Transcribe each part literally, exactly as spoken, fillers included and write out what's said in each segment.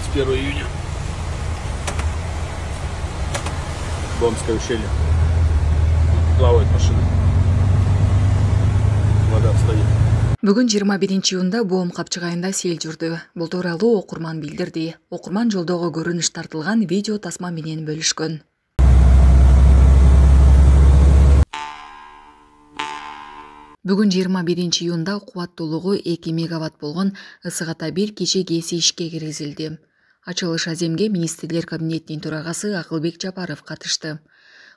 двадцать первое июня. Бомское ущелье. Плавает машина. Вода встает. Бүгүн жыйырма биринчи июнда Боом капчыгайында сел жүрдү. Бул тууралуу окурман билдирди. Окурман жолдогу көрүнүш тартылган видео тасма менен бөлүшкөн. Бүгүн жыйырма биринчи июнда кубаттуулугу эки мегаватт болгон ысык ата бир кичи КЭСи ишке киргизилди. Ачылыш аземге министрлер кабинетинин төрагасы Акылбек Жапаров катышты.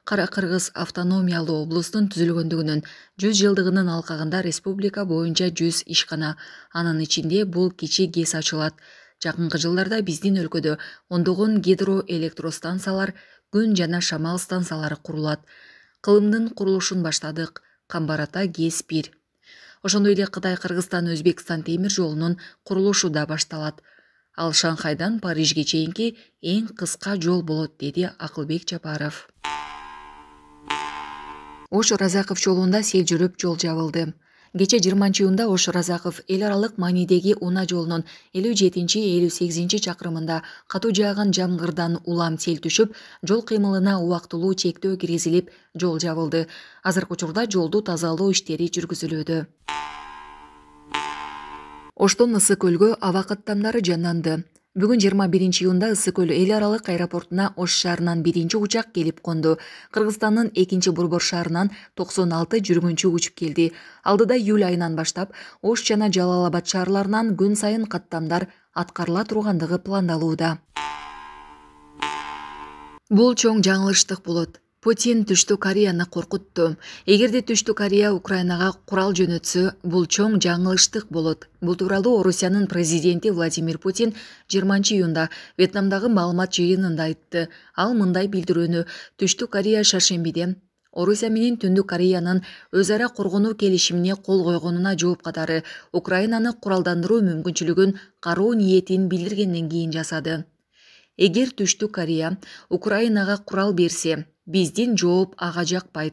Кара Кыргыз автономиялуу облустун түзүлгөндүгүнүн жүз жылдыгынын алкагында республика боюнча жүз ишкана, анын ичинде бул кичи КЭС ачылат. Жакынкы жылдарда биздин өлкөдө ондогон гидроэлектростанциялар, күн жана шамал станциялары курулат. Кылымдын курулушун баштадык. Камбар ата КЭС бир. Ошондой эле Кытай Кыргызстан Өзбекстан темир жолунун курулушу да башталат. Ал Шанхайдан Парижге чейинки эң кыска жол болот, деди Акылбек Жапаров. Ош Разаков жолунда сел жүрүп жол жабылды. Кече жыйырманчы июнда Ош Разаков эл аралык маанидеги унаа жолунун элүү жетинчи элүү сегизинчи чакырымында катуу жааган жамгырдан улам сел түшүп, жол кыймылына убактылуу чектөө киргизилип, жол жабылды. Азыркы учурда жолду тазалоо иштери жүргүзүлүүдө. Оштон Ысык көлгө аба каттамдары жанданды. Бүгүн жыйырма биринчи июнда Ысык көл эл аралык аэропортуна Ош шаарынан биринчи учак келип конду. Кыргызстандын экинчи борбор шаарынан токсон алты жүргүнчү учуп келди. Алдыда июль айынан баштап Ош жана Жалал Абад шаарларынан күн сайын каттамдар аткарыла тургандыгы пландалууда. Бул чоң жаңылыштык болот. Путин Түштүк Кореяны коркутту. Эгерде Түштүк Корея Украинага курал жөнөтсө, бул чоң жаңылыштык болот. Бул тууралуу Орусиянын президенти Владимир Путин жыйырманчы июнда Вьетнамдагы маалымат жыйынында айтты. Ал мындай билдирүүнү Түштүк Корея шаршембиде Орусия менен Түндүк Кореянын өз ара коргонуу келишимине кол койгонуна жооп катары Украинаны куралдандыруу мүмкүнчүлүгүн кароо ниетин билдиргенден кийин жасады. Эгер Түштүк Корея Украинага курал берсе, биздин жооп ага жакпайт.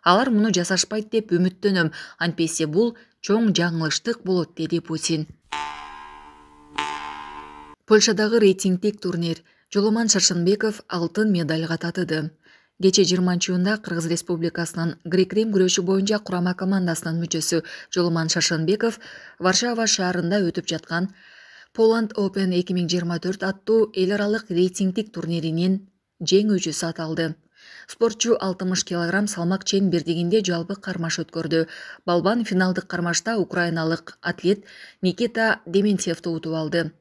Алар муну жасашпайт деп үмүттөнөм, антпесе бул чоң жаңылыштык болот, деди Путин. Польшадагы рейтингдик турнир. Жоломан Шаршенбеков алтын медальга татыды. Кече жыйырманчы июнда Кыргыз Республикасынын грек-рим күрөшү боюнча курама командасынын мүчөсү Жоломан Шаршенбеков Варшава шаарында өтүп жаткан Poland Open эки миң жыйырма төрт аттуу эл аралык рейтингдик турниринин жеңүүчүсү аталды. Спортчу алтымыш килограмм салмак чен бирдигинде жалпы кармаш өткөрдү. Балбан финалдык кармашта украиналык атлет Никита Дементьевди утуп алды.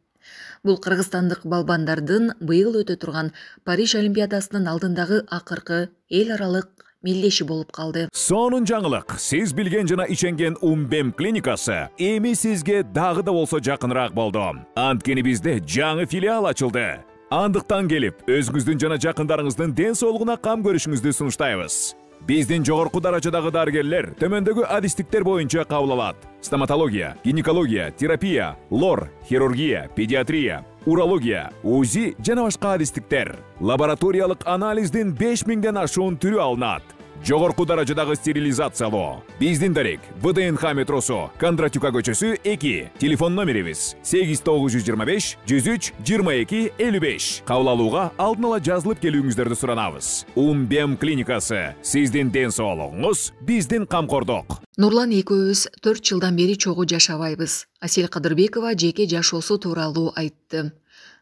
Бул кыргызстандык балбандардын быйыл өтө турган Париж Олимпиадасынын алдындагы акыркы эл аралык мелдеши болуп калды. Сонун жаңылык. Сиз билген жана иченген Умбем клиникасы эми сизге дагы да болсо жакыныраак болду. Анткени бизде жаңы филиал ачылды. Андыктан келип, өзүңүздүн жана жакындарыңыздын ден соолугуна кам көрүшүңүздү сунуштайбыз. Биздин жогорку даражадагы дарыгерлер төмөндөгү адистиктер боюнча кабыл алат. Стоматология, гинекология, терапия, лор, хирургия, педиатрия, урология, УЗИ жана башка адистиктер. Лабораториялык анализдин беш миңден ашуун түрү алынат. Жогорку даражадагы стерилизациялоо. Биздин дарек ВДНХ метросу, Кондратюка көчөсү эки. Телефон номерибиз сегиз тогуз жүз жыйырма беш жүз үч жыйырма эки элүү беш. Кабыл алууга алдын ала жазылып келүүңүздөрдү суранабыз. Умбем клиникасы. Сиздин ден соолугуңуз, биздин камкордук. Нурлан экөөбүз төрт жылдан бери чогуу жашабайбыз. Асель Кадырбекова жеке жашоосу тууралуу айтты.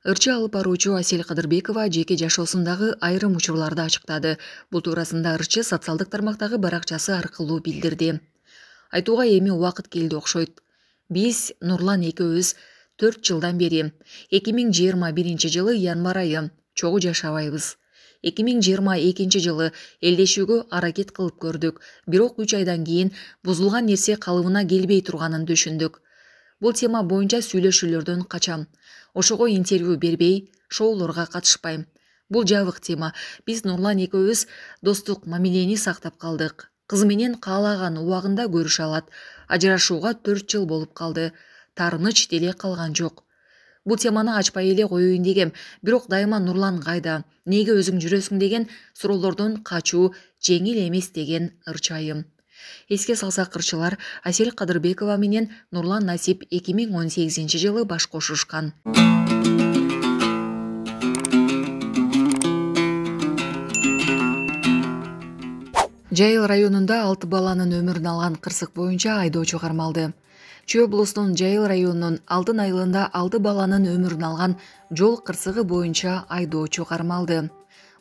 Ырчы алып баруучу Асель Кадырбекова жеке жашоосундагы айрым учурларды ачыктады. Бул туурасында Ырчы социалдык тармактагы баракчасы аркылуу билдирди. Айтууга эми убакыт келди окшойт. Биз Нурлан экөөбүз төрт жылдан бери эки миң жыйырма биринчи жылы январь айы чогуу жашабайбыз. эки миң жыйырма экинчи жылы элдешүүгө аракет кылып көрдүк, бирок үч айдан кийин бузулган нерсе калыбына келбей турганын түшүндүк. Бул тема боюнча сүйлөшүүлөрдөн качам. Ошого интервью бербей, шоулорго катышпайм. Бул жабык тема. Биз Нурлан экөөбүз достук мамилени сактап калдык. Кызы менен каалаган убагында көрүшө алат. Ажырашууга төрт жыл болуп калды. Таарыныч деле калган жок. Бул теманы ачпай эле коеюн дегем, бирок дайыма Нурлан кайда, неге өзүң жүрөсүң деген суроолордон качуу жеңил эмес деген ырчайым. Эске салсак ырчылар Асель Кадырбекова менен Нурлан Насип эки миң он сегизинчи жылы баш кошушкан. Жайыл районунда алты баланын өмүрүн алган кырсык боюнча айдоочу кармалды. Чүй облусунун Жайыл районунун Алтын айылында алты баланын өмүрүн алган жол кырсыгы боюнча айдоочу кармалды.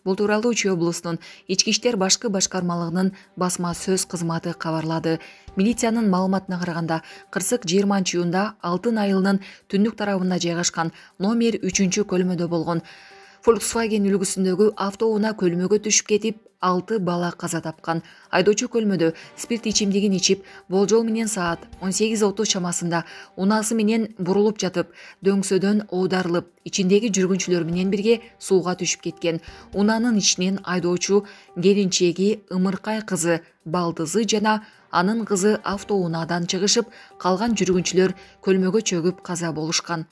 Бул тууралуу Чүй облусунун Ички иштер башкы башкармалыгынын басма сөз кызматы кабарлады. Милициянын маалыматына караганда, кырсык жыйырманчы июнда Алтын айылынын түндүк тарабында жайгашкан номер үчүнчү көлмөдө болгон. Volkswagen үлгүсүндөгү автоунаа көлмөгө түшүп кетип, алты бала каза тапкан. Айдоочу көлмөдө спирт ичимдигин ичип, болжол менен саат он сегиз отуз чамасында унаасы менен бурулуп жатып, дөңсөдөн оодарылып, ичиндеги жүргүнчүлөр менен бирге сууга түшүп кеткен. Унаанын ичинен айдоочу келинчеги Ымыркай кызы Балдызы жана анын кызы автоунаадан чыгышып, калган жүргүнчүлөр көлмөгө чөгүп каза болушкан.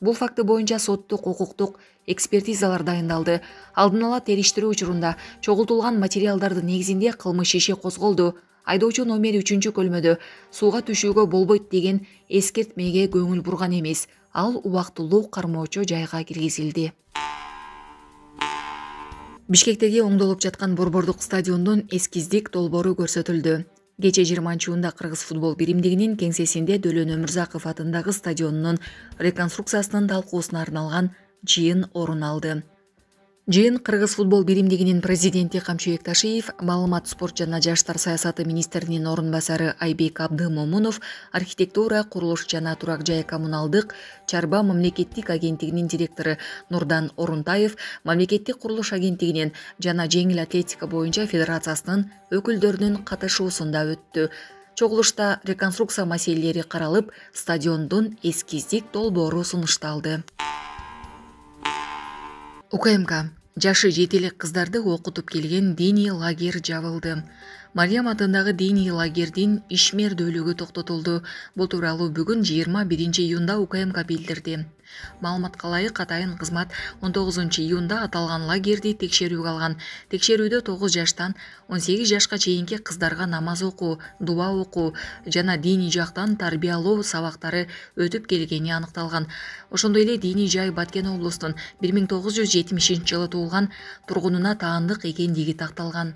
Бул факты боюнча соттук укуктук экспертизалар дайындалды. Алдын ала териштирүү учурунда чогултулган материалдардын негизинде кылмыш иши козголду. Айдоочу номер үчүнчү көлмөдө сууга түшүүгө болбойт деген эскертмеге көңүл бурган эмес. Ал убактылуу кармоочу жайга киргизилди. Бишкектеги оңдолуп жаткан борбордук стадиондун эскиздик долбоору көрсөтүлдү. Кечээ жыйырманчы июнда Кыргыз футбол биримдигинин кеңсесинде Дөлөн Өмүрзаков атындагы стадионунун реконструкциясынын талкуусуна арналган жыйын орун алды. Жыйын Кыргыз футбол биримдигинин президенти Камчыбек Ташиев, маалымат, спорт жана жаштар саясаты министринин орун басары Айбек Абдымомунов, архитектура, курулуш жана турак жай коммуналдык чарба мамлекеттик агенттигинин директору Нурдан Орунтаев, мамлекеттик курулуш агенттигинин жана жеңил атлетика боюнча федерациясынын өкүлдөрүнүн катышуусунда өттү. Чогулушта реконструкция маселелери каралып, стадиондун эскиздик долбоору сунушталды. УКМК жашы жети элек кыздарды окутуп келген диний лагерь жабылды. Мариям атындагы диний лагердин ишмердүүлүгү токтотулду. Бул тууралуу бүгүн жыйырма биринчи июнда УКМК билдирди. Маалыматка ылайык, атайын кызмат он тогузунчу июнда аталган лагерди текшерүүгө алган. Текшерүүдө тогуз жаштан он сегиз жашка чейинки кыздарга намаз окуу, дуа окуу жана диний жактан тарбиялоо сабактары өтүп келгени аныкталган. Ошондой эле диний жай Баткен облусунун бир миң тогуз жүз жетимишинчи жылы туулган тургунуна таандык экендиги такталган.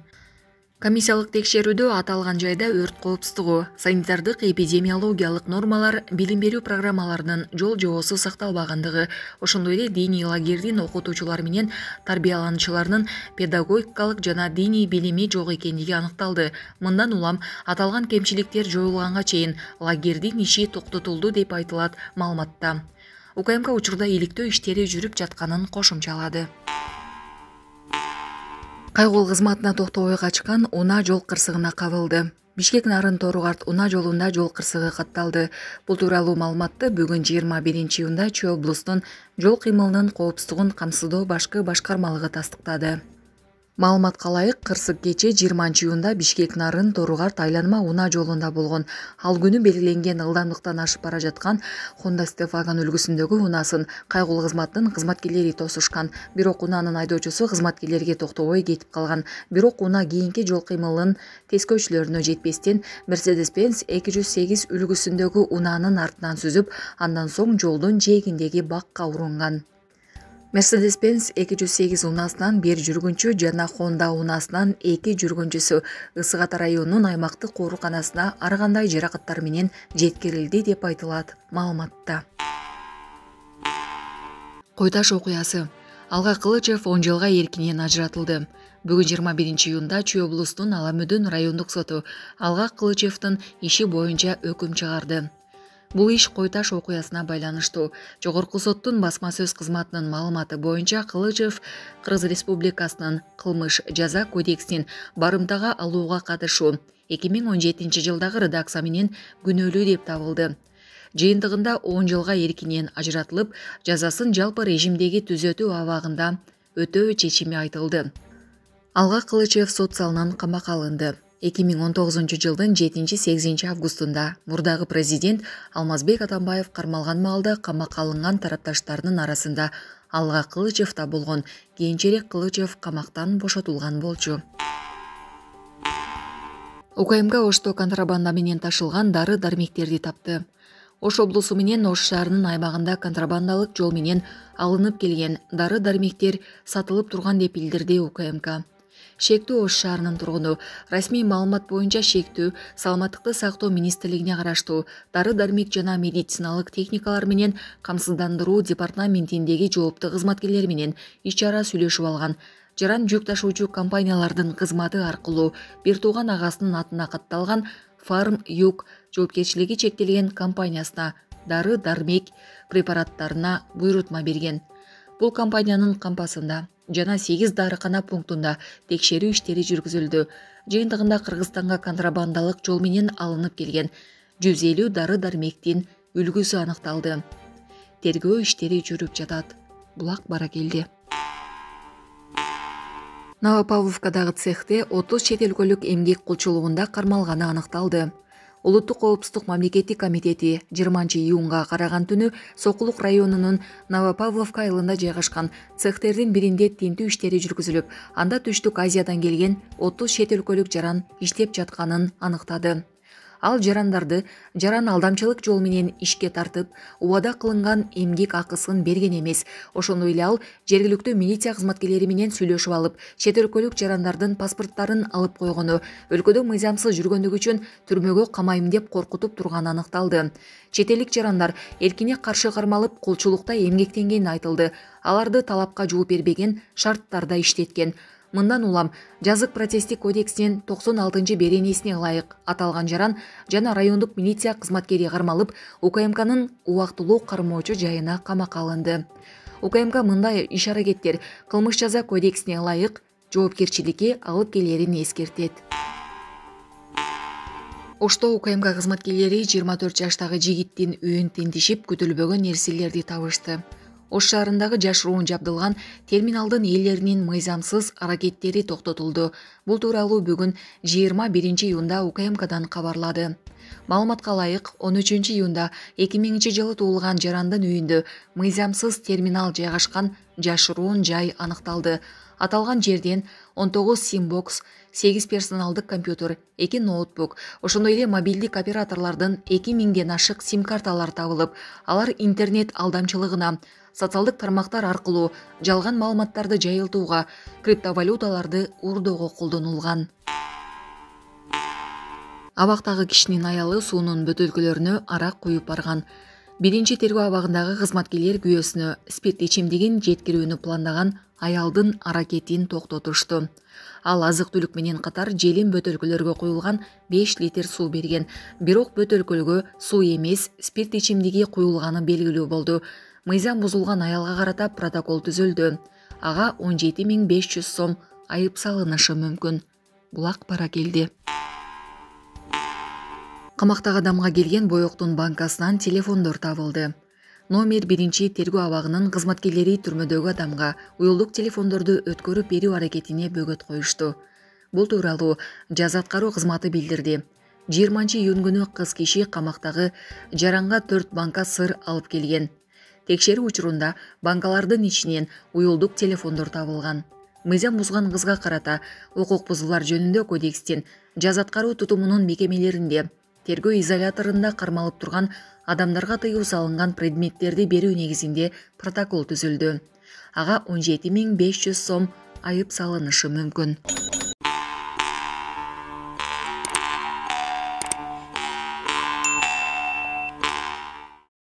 Комиссиялык текшерүүдө аталган жайда өрт коопсуздугу, санитардык эпидемиологиялык нормалар, билим берүү программаларынын жол жобосу сакталбагандыгы, ошондой эле диний лагердин окутуучулар менен тарбиялануучуларынын педагогикалык жана диний билими жок экендиги аныкталды. Мындан улам аталган кемчиликтер жоюлганга чейин лагердин иши токтотулду деп айтылат маалыматта. УКМК учурда иликтөө иштери жүрүп жатканын кошумчалады. Кайгыл кызматына токтобой качкан унаа жол кырсыгына кабылды. Бишкек Нарын Торугарт унаа жолунда жол кырсыгы катталды. Бул тууралуу маалыматты бүгүн жыйырма биринчи июнда Чүй облусунун жол кыймылынын коопсуздугун камсыздоо башкы башкармалыгы тастыктады. Маалыматка ылайык, кырсык кечээ жыйырманчы июнда Бишкек Нарын Торугарт айланма унаа жолунда болгон. Ал күнү белгиленген ылдамдыктан ашып бара жаткан Honda Stefan үлгүсүндөгү унаасын кайгыл кызматтын кызматкерлери тосушкан. Бирок унаанын айдоочусу кызматкерлерге токтобой кетип калган. Бирок унаа кийинки жол кыймылынын тескөөчүлөрүнө жетпестен Mercedes-Benz эки жүз сегиз үлгүсүндөгү унаанын артынан сүзүп, андан соң жолдун жээгиндеги бакка урунган. Mercedes-Benz эки жүз сегиз унаасынан бир жүргүнчү жана Honda унаасынан эки жүргүнчүсү Ысык Ата районунун аймактык ооруканасына ар кандай жаракаттар менен жеткирилди деп айтылат маалыматта. Кой Таш окуясы. Алга Кылычев он жылга эркинен ажыратылды. Бүгүн жыйырма биринчи июнда Чүй облусунун Ала Мөдөн райондук соту Алга Кылычевдин иши боюнча өкүм чыгарды. Бул иш Кой Таш окуясына байланыштуу. Жогорку соттун басма сөз кызматынын маалыматы боюнча Кылычев Кыргыз Республикасынын кылмыш жаза кодексинин барымтага алууга катышуу эки миң он жетинчи жылдагы редакция менен күнөөлүү деп табылды. Жыйынтыгында он жылга эркинен ажыратылып, жазасын жалпы режимдеги түзөтүү абагында өтөө чечими айтылды. Алга Кылычев сот залынан камакка алынды. эки миң он тогузунчу жылдын жетинчи сегизинчи августунда мурдагы президент Алмазбек Атамбаев кармалган маалда камакка алынган тарапташтарынын арасында Алга Кылычев да болгон. Кийинчерээк Кылычев камактан бошотулган болчу. УКМК Ошто контрабанда менен ташылган дары дармектерди тапты. Ош облусу менен Ош шаарынын аймагында контрабандалык жол менен алынып келген дары дармектер сатылып турган деп билдирди УКМК. Шектүү Ош шаарынын тургуну. Расмий маалымат боюнча шектүү саламаттыкты сактоо министрлигине караштуу дары-дармек жана медициналык техникалар менен камсыздандыруу департаментиндеги жооптуу кызматкерлер менен иш-чара сүйлөшүп алган. Жаран жүк ташуучу компаниялардын кызматы аркылуу бир тууган агасынын атына катталган Farm Юг жоопкерчилиги чектелген компаниясына дары-дармек препараттарына буйрутма берген. Бул компаниянын кампасында жана сегиз дарыкана пунктунда текшерүү иштери жүргүзүлдү. Жыйынтыгында Кыргызстанга контрабандалык жол менен алынып келген жүз элүү дары-дармектин үлгүсү аныкталды. Тергөө иштери жүрүп жатат. Булак баракелди. Новопавловкадагы цехте отуз чет өлкөлүк эмгек кулчулугунда кармалганы аныкталды. Улуттук коопсуздук мамлекеттик комитети жыйырманчы июнга караган түнү Сокулук районунун Новопавловка айылында жайгашкан цехтердин биринде тинтүү иштери жүргүзүлүп, анда Түштүк Азиядан келген отуз чет өлкөлүк жаран иштеп жатканын аныктады. Ал жарандарды жаран алдамчылык жол менен ишке тартып, убада кылынган эмгек акысын берген эмес. Ошондой эле ал жергиликтүү милиция кызматкерлери менен сүйлөшүп алып, чет өлкөлүк жарандардын паспорттарын алып койгону, өлкөдө мыйзамсыз жүргөндүгү үчүн түрмөгө камайм деп коркутуп турганы аныкталды. Чет элдик жарандар эркине каршы кармалып, кулчулукта эмгектенгени айтылды. Аларды талапка жооп бербеген шарттарда иштеткен. Мындан улам жазык процесстик кодексинин токсон алтынчы беренесине ылайык аталган жаран жана райондук милиция кызматкери кармалып, УКМКнын убактылуу кармоочу жайына камакка алынды. УКМК мындай иш-аракеттер кылмыш жаза кодексине ылайык жоопкерчиликке алып келерин эскертет. Ошто УКМК кызматкерлери жыйырма төрт жаштагы жигиттин үйүн тинтишип, күтүлбөгөн нерселерди табышты. Ош шаарындагы жашыруун жабдылган терминалдын ээлеринин мыйзамсыз аракеттери токтотулду. Бул тууралуу бүгүн жыйырма биринчи июнда УКМКдан кабарлады. Маалыматка ылайык, он үчүнчү июнда эки миңинчи жылы туулган жарандын үйүндө мыйзамсыз терминал жайгашкан жашыруун жай аныкталды. Аталган жерден он тогуз сим-бокс, сегиз персоналдык компьютер, эки ноутбук, ошондой эле мобилдик операторлордун эки миңден ашык сим-карталар табылып, алар интернет алдамчылыгына, социалдык тармактар аркылуу жалган маалыматтарды жайылтууга, криптовалюталарды уурдоого колдонулган. Абактагы кишинин аялы суунун бөтөлкөлөрүнө арак куюп барган. Биринчи тергөө абагындагы кызматкерлер күйөөсүнө спирт ичимдигин жеткирүүнү пландаган аялдын аракетин токтотушту. Ал азык-түлүк менен катар желим бөтөлкөлөргө куюлган беш литр суу берген. Бирок бөтөлкөлгө суу эмес, спирт ичимдиги куюлганы белгилүү болду. Мыйзам бузулган аялга карата протокол түзүлдү. Ага он жети миң беш жүз сом айып салынышы мүмкүн. Булак баракелди. Камактагы адамга келген боёктун банкасынан телефондор табылды. Номер биринчи тергөө абагынын кызматкерлери түрмөдөгү адамга уюлдук телефондорду өткөрүп берүү аракетине бөгөт коюшту. Бул тууралуу жаза аткаруу кызматы билдирди. жыйырманчы июнь күнү кыз киши камактагы жаранга төрт банка сыр алып келген. Текшерүү учурунда банкалардын ичинен уюлдук телефондор табылган. Мыйзам бузган кызга карата укук бузуулар жөнүндө кодекстин жаза аткаруу тутумунун мекемелеринде тергөө изоляторунда кармалып турган адамдарга тыюу салынган предметтерди берүү негизинде протокол түзүлдү. Ага он жети миң беш жүз сом айып салынышы мүмкүн.